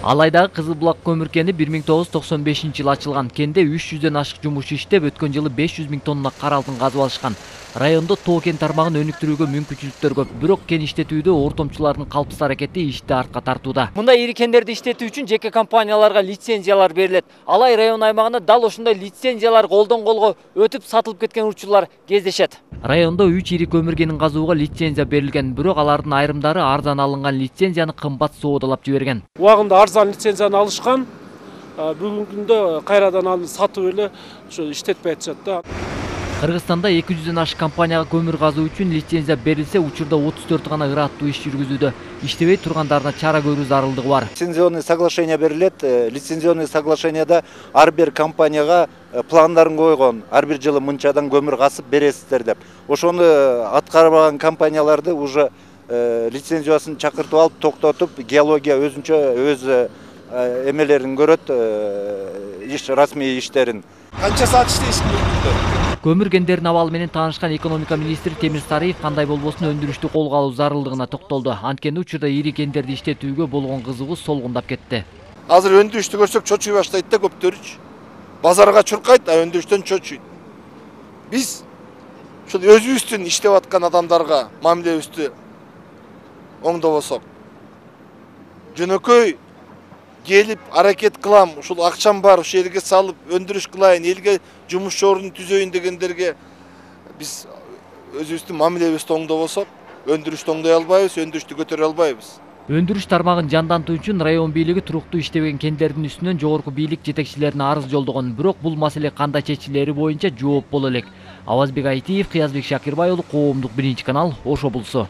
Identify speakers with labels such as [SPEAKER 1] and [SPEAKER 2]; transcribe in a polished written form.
[SPEAKER 1] Алайдагы Кызыл Булак көмүр кени 1995-жылы ачылган. Кенде 300дөн ашык жумушчу иштеп, өткөн жылы 500 000 тонна кара алтын казып алышкан. Райондо тоо кен тармагын өнүктүрүүгө мүмкүнчүлүктөр көп. Бирок кен иштетүүдө ортомчулардын калпсыз аракети ишти артка тартууда. Мындай ири кендерди иштетүү үчүн жеке компанияларга лицензиялар берилет. Алай район аймагында дал ошондой лицензиялар колдон колго өтүп сатылып кеткен учурлар кездешет. Райондо 3 ири көмүр кенин казууга лицензия берилген, бирок алардын айрымдары арзан алынган лицензияны кымбат соодалап жиберген.
[SPEAKER 2] Убагында арзан лицензияны алышкан, бүгүнкү күндө кайрадан алып сатып эле ошо иштетпей атышат да. Кыргызстанда 200дөн ашык компанияга көмүр казуу үчүн лицензия берилсе, учурда 34 гана ыраттуу иш жүргүзүүдө. Иштебей тургандарына чара көрүү зарылдыгы бар.
[SPEAKER 3] Лицензионный соглашение берилет. Лицензионный соглашенияда ар бир компанияга пландарын койгон, ар бир жылы мынчадан көмүр касып бересиздер деп. Ошону аткарбаган компанияларды уже лицензиясын чакыртып алып, токтотуп, геология өзүнчө өз эмелерин көрөт, расмий иштерин.
[SPEAKER 4] Канча саат иштейсиңер?
[SPEAKER 1] Көмүр кендеринин абалы менен таанышкан экономика министри Темир Сарыев кандай болбосун өндүрүштү колго алуу зарылдыгына токтолду. Анткени учурда ири кендерди иштетүүгө болгон кызыгуу солгундап кетти.
[SPEAKER 4] Азыр өндүрүштү көрсөк чочуй баштайт да көптөрүчү. Базарга чуркайт, а өндүрүштөн чочуйт. Биз ушул өзүбүздүн иштеп аткан адамдарга мамилебизди оңдобосок, жөнөкөй келип аракет кылам, ушул акчам бар, ушул жерге салып өндүрүш кылайын, элге жумуш орун түзөйүн дегендерге биз өзүбүздүн мамилебизди оңдобосок, өндүрүштү оңдой албайбыз, өндүрүштү көтөрө албайбыз.
[SPEAKER 1] Өндүрүш тармагын жандантуу үчүн район бийлиги туруктуу иштебеген кендердин үстүнөн жогорку бийлик жетекчилерине арыз жолдогон, бирок бул маселе кандай чечилери боюнча жооп боло элек. Авазбек Айтиев, Кыязбек Шакирбай уулу, Коомдук 1 канал, Ош облусу.